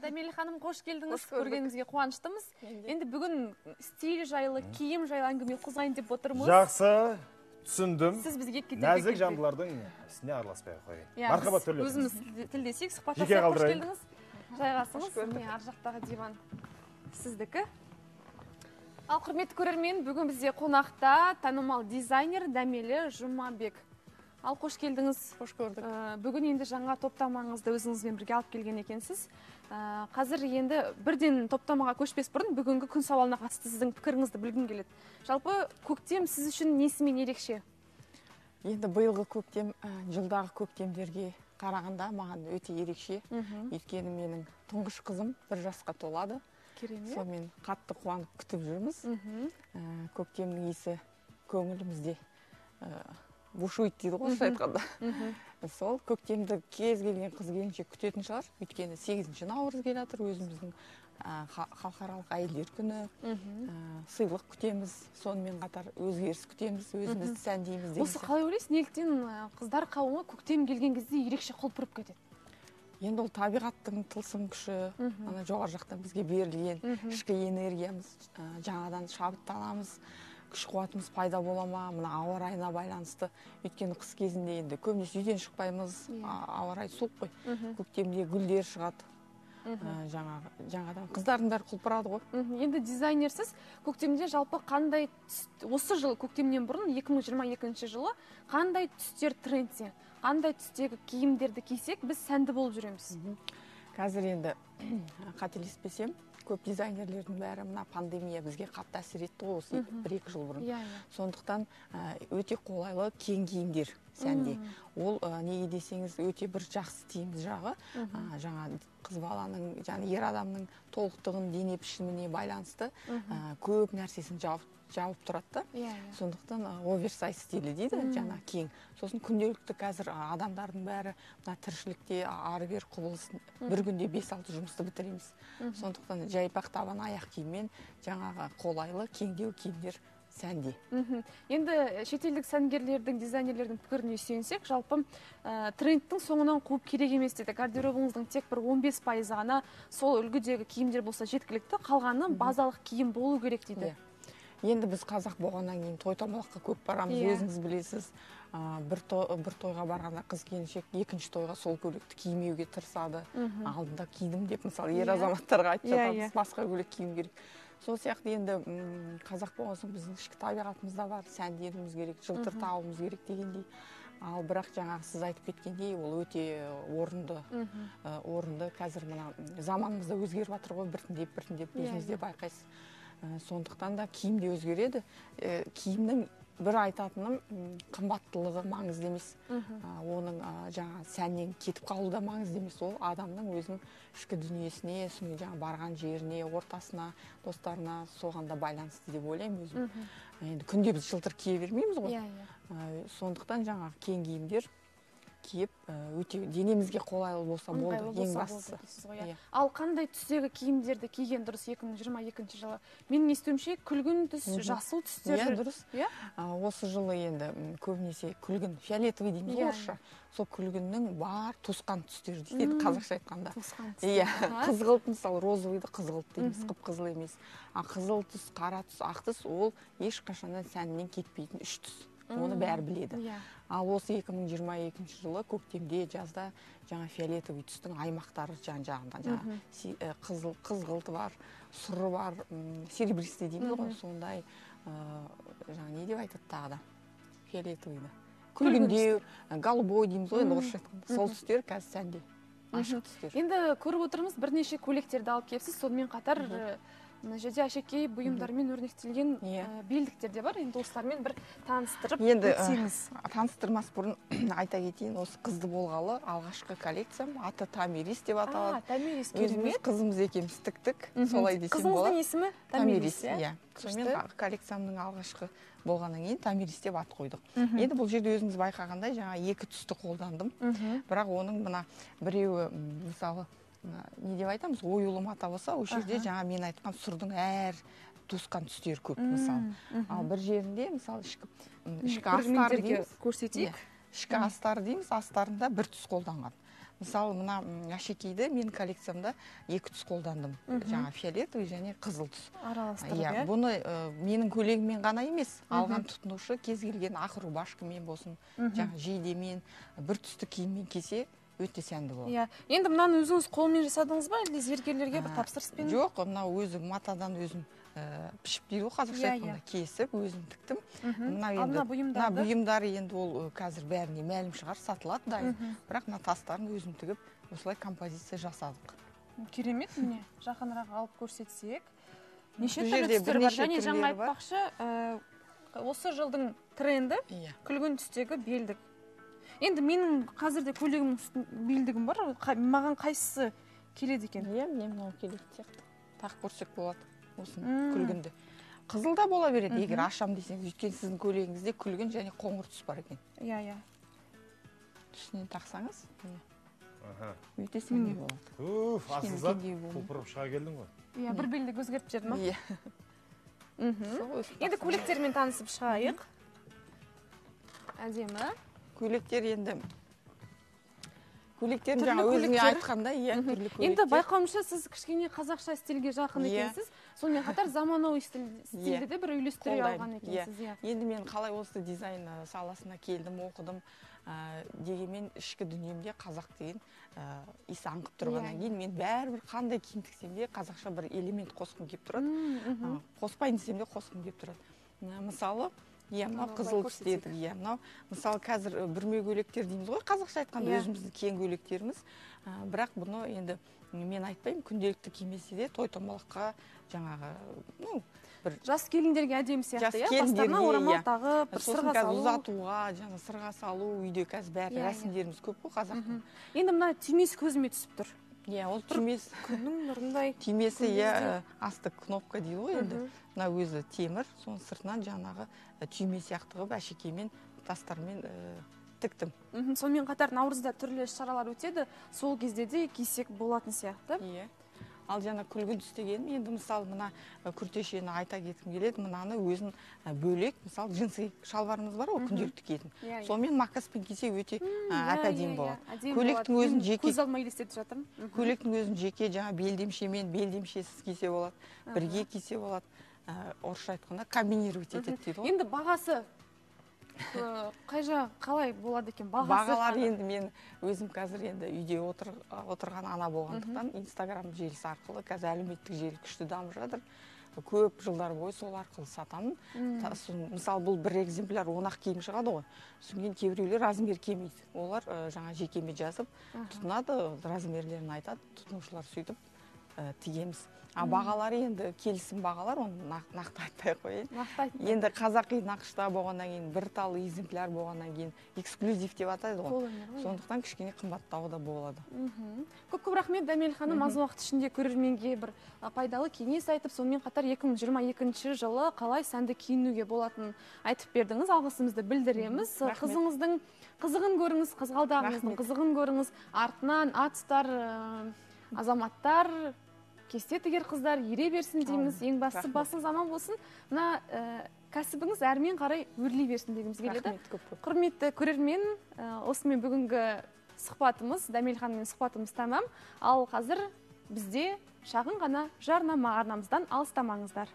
Дәмелі ханым, қош келдіңіз. Көргенімізге қуаныштымыз. Енді бүгін стиль жайлы, киім жайлы әңгіме қозғайын деп отырмыз. Жақсы, түсіндім. Сіз бізге нәзік жандылардың ісіне араласпай қойын. Мархабат төрлетіңіз. Өзіміз тілдесек, сұхбаттасақ, қош келдіңіз. Жайғасыңыз. Ар жақтағы диван сіздікі. Ал құрметті көрермен, бүгін бізде қонақта танымал дизайнер Дәмелі Жұмабек. Ал қош келдіңіз. Қош көрдік. Бүгін енді жаңа топтамаңызды өзіңізбен бірге алып келген екенсіз. Қазір енді бірден топтамаға көшпес бұрын бүгінгі күн сауалына қатысты сіздің пікіріңізді білгім келеді. Жалпы көктем сіз үшін несімен ерекше? Енді биылғы көктем жылдағы көктемдерге қарағанда маған өте ерекше. Өйткені менің тұңғыш қызым 1 жасқа толады. Керемет. Сонымен қатты қуанып күтіп жүрміз. Көктемнің иісі көңілімізде бушует дейді ғой, айтқанда. Сол көктемді кез келген қыз келіншек күтетін шығар. Өйткені 8 наурыз келе жатыр, өзіміздің халықаралық әйелдер күні, сыйлық күтеміз, сонымен қатар өзгеріс күтеміз, өзімізді сәндейміз деген. Осы қалай ойлайсыз, неліктен қыздар қауымы көктем келген кезде ерекше құлпырып кетеді? Енді ол табиғаттың тылсым күші, жоғары жақтан бізге берілген ішкі энергиямыз, жаңадан шабыттанамыз, күш қуатымыз пайда бола ма, мына ауа райына байланысты. Өйткені қыс кезінде енді көбінесе үйден шықпаймыз, ауа райы суық қой. Көктемде гүлдер шығады. Жаңадан қыздардың бәрі құлпырады ғой. Енді дизайнерсіз көктемде жалпы қандай осы жыл көктемнен бұрын 2022 жылы қандай түстер трендте, қандай түстегі киімдерді кисек біз сәнді болып жүреміз? Қазір енді қателеспесем, көп дизайнерлердің бәрі мына пандемия бізге қатты әсер етті ғой, осы 1-2 жыл бұрын. Сондықтан өте қолайлы кең киімдер сәнде. Ол неге десеңіз өте бір жақсы тиімді жағы. Жаңа қыз баланың, ер адамның толықтығын дене пішіміне байланысты көп нәрсесін жауып тұрады. Сондықтан оверсайз стилі дейді, жаңа кең. Сосын күнделікті қазір адамдардың бәрі тіршілікте ары-бері құбылысын бір күнде 5-6 жұмысты бітіреміз. Сондықтан жайпақ табан аяқ киіммен жаңағы қолайлы кеңдеу киімдер сәнде. Енді шетелдік сәнгерлердің, дизайнерлердің пікіріне сүйенсек, жалпы трендтің соңынан қуып керек емес дейді. Гардеробыңыздың тек бір 15% ғана сол үлгідегі киімдер болса жеткілікті, қалғаны базалық киім болу керек дейді. Енді біз қазақ болғаннан кейін той-томалаққа көп барамыз, өзіңіз білесіз. Бір тойға барғанда қыз келіншек екінші тойға сол көйлекті кимеуге тырысады. Алдында кидім деп, мысалы, ер азаматтарға айтып жатамыз, басқа көйлек киім керек. Сол сияқты енді қазақ болған соң біздің ішкі табиғатымызда бар, сәндеуіміз керек, жылтыр тауымыз керек дегендей. Ал бірақ жаңағы сіз айтып кеткендей, ол өте орынды. Қазір мына заманымызда өзгеріп жатыр ғой, біртіндеп өзіңізде байқайсыз. Сондықтан да киім де өзгереді. Киімнің бір айтатыным қымбаттылығы маңызды емес. Оның жаңа сәннен кетіп қалу да маңызды емес. Ол адамның өзінің ішкі дүниесіне, жаңа барған жеріне, ортасына, достарына соған да байланысты деп ойлаймын өзім. Енді күнде біз жылтыр кие бермейміз ғой. Сондықтан жаңа кең киімдер киіп, өте денемізге қолайлы болса болды, ең бастысы. Ал қандай түстегі киімдерді киген дұрыс 2022 жылы? Менің естуімше күлгін түс, жасыл түстер. Дұрыс. Осы жылы енді көбінесе күлгін, фиолетовый дейміз ғой орысша. Сол күлгіннің бар тусқан түстері дейді, қазақша айтқанда. Қызғылт, мысалы, розовыйды қызғылт дейміз, қып-қызыл емес. Қызыл түс, қара түс, ақ түс, ол ешқашаннан сәнінен кетпейтін 3 түс. Оны бәрі біледі. Ал осы 2022 жылы көктемде, жазда жаңа фиолетовый түстің аймақтары жан-жағында. Қызғылты бар, сұры бар, серебристый дейміз ғой, сондай, не деп айтады тағы да, фиолетовыйды. Күлгіндеу, голубой дейміз ғой, орысша айтқанда. Сол түстер қазір сәнде, ашық түстер. Енді көріп отырмыз, бірнеше көйлектерді алып келіпсіз, сонымен қатар мына жерде әшекей бұйымдармен өрнектелген белдіктер де бар. Енді осылармен бір таныстырып өтсеңіз. Таныстырмас бұрын айта кетейін, осы қызды болғалы алғашқы коллекциям аты Тамирис деп аталады. Тамирис, өзіміз қызымыз екеуміз тіктік, солай десем болады. Қызыңыздың есімі Тамирис, Сонымен коллекциямның алғашқы болғаннан кейін Тамирис деп ат қойдық. Енді бұл жерде өзіңіз байқағандай жаңа 2 түсті қолдандым. Бірақ оның мына біреуі, мысалы, не деп айтамыз, оюлы мата болса, ол жерде жаңа мен айтқан сұрдың әр тусқан түстері көп, мысалы. Ал бір жерінде, мысалы, ішкі астар дейміз, көрсетейік. Ішкі астар дейміз, астарында бір түс қолданған. мысалы мына әшекейді мен коллекциямда 2 түс қолдандым. Жаңа фиолетовый және қызыл түс. Араластырып, бұны менің көйлегіммен ғана емес, алған тұтынушы кез келген ақ рубашкамен болсын, жаңа жейдемен, бір түсті киіммен кисе өте сәнді болады. Енді мынаны өзіңіз қолмен жасадыңыз ба, әлде зергерлерге бір тапсырыспен? Жоқ, мына өзім матадан өзім пішіп дейді ғой, қазақша айтқанда, кесіп, өзім тіктім. Мына бұйымдары енді ол қазір бәріне мәлім шығар, сатылады дайын. Бірақ мына тастарын өзім тігіп, осылай композиция жасадық. Керемет, міне, жақынырақ алып көрсетсек. Неше түрлі түстер бар, және жаңа айтпақшы, осы жылдың тренді күлгін түстегі белдік. Енді менің қазірде көйлегімнің белдігім бар, маған қайсысы келеді екен? Міне мынау келеді сияқты. Тақ көрсек болады. Осын күлгінді. Қызыл да бола береді, егер ашам десеңіз, өйткені сіздің көйлегіңізде күлгін және қоңыр түс бар екен. Түсінен тақсаңыз, өте сәнді болады. Асылзат, құлпырып шыға келдің ғой? Бір белдік өзгеріп жерді ма? Енді көйлектермен танысып шығайық. Әдемі. Көйлектер енді көйлектерін жаңа өзіңе айтқанда, түрлі көйлектер. Енді байқауымша сіз кішкене қазақша стильге жақын екенсіз, сонымен қатар заманауи стильді де бір үйлестіре алған екенсіз. Енді мен қалай осы дизайн саласына келдім, оқыдым, дегенмен ішкі дүниемде қазақ деген иісі аңқып тұрғаннан кейін мен бәрібір қандай киім тіксем де қазақша бір элемент қосқым келіп тұрады. Қоспайын десем де қосқым келіп тұрады. Мысалы, мынау қызыл түс дедік, мынау мысалы қазір бүрме көйлектер дейміз ғой, қазақша айтқанда өзіміздің кең көйлектеріміз. Бірақ бұны енді мен айтпаймын, күнделікті кимесе де той томалаққа жаңағы бір жас келіндерге әдемі сияқты, бастарына орамал тағып, бір сырға салу. Ұзатуға, жаңа сырға салу, үйде қазір бәрі рәсімдеріміз көп қой қазақтың. Енді мына түймесі көзіме түсіп тұр. Ол түймесі күннің нұрындай. Түймесі асты кнопка дейді ғой енді. Мына өзі темір, соның сыртынан жаңағы түйме сияқты қылып әшекеймен, тастармен тіктім. Сонымен қатар наурызда түрлі шаралар өтеді, сол кезде де кисек болатын сияқты. Ал жаңа күлгін түс деген, енді мысалы мына күртешені айта кеткім келеді, мынаны өзін бөлек, мысалы джинсы шалбарымыз бар ғой, күнделікті киетін. Сонымен макаспен кисе өте әп-әдемі болады. Көйлектің өзін жеке көз алмай елестетіп жатырмын. Көйлектің өзін жеке жаңа белдемшемен, белдемшесіз кисе болады, бірге кисе болады. Орысша айтқанда комбинировать етеді дейді ғой. Енді бағасы қалай болады екен? Бағалар енді мен өзім қазір енді үйде отырған ана болғандықтан Инстаграм желісі арқылы қазір әлеуметтік желі күшті дамып жатыр. Көп жылдар бойы сол арқылы сатамын. Мысалы бұл бір экземпляр 10-ақ киім шығады ғой. Содан кейбіреулер размер келмейді. Олар жаңа жекеме жазып тұтынады, размерлерін айтады, тұтынушылар сөйтіп тігеміз. Бағалары енді келісім бағалар, оны нақты айтпай қойын. Енді қазақи нақышта болғаннан кейін, бір талы экземпляр болғаннан кейін, эксклюзив деп атайды ғой. Сондықтан кішкене қымбаттауы да болады. Көп рахмет, Дәмел ханым, аз уақыт ішінде көрерменге бір пайдалы кеңес айтып, сонымен қатар 2022 жылы қалай сәнді киінуге болатынын айтып бердіңіз. Алғысымызды білдіреміз. Қызыңыздың қызығын көріңіз, қызғалдағыңыздың қызығын көріңіз. Артынан атыстар, азаматтар, кесте тігер қыздар ере берсін дейміз. Ең бастысы басыңыз аман болсын. Мына кәсібіңіз әрмен қарай өрлей берсін дегіміз келеді. Құрметті көрермен, осымен бүгінгі сұхбатымыз, Дәмел ханыммен сұхбатымыз тамам. Ал қазір бізде шағын ғана жарнама, арнамыздан алыстамаңыздар.